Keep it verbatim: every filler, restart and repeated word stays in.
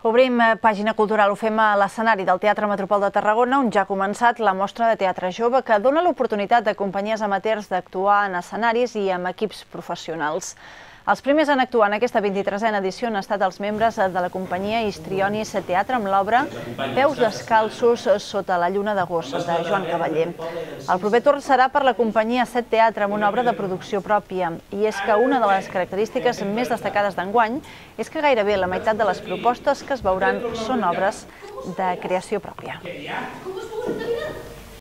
Obrim pàgina cultural, ho fem a l'escenari del Teatre Metropol de Tarragona, on ja ha començat la mostra de teatre jove que dona l'oportunitat de companyies amateurs d'actuar en escenaris i amb equips professionals. Els primers en actuar en aquesta vint-i-tresena edició han estat els membres de la companyia Histrionis Teatre amb l'obra Peus descalços sota la lluna d'agost, de Joan Cavaller. El proper torn serà per la companyia Set Teatre amb una obra de producció pròpia. I és que una de les característiques més destacades d'enguany és que gairebé la meitat de les propostes que es veuran són obres de creació pròpia.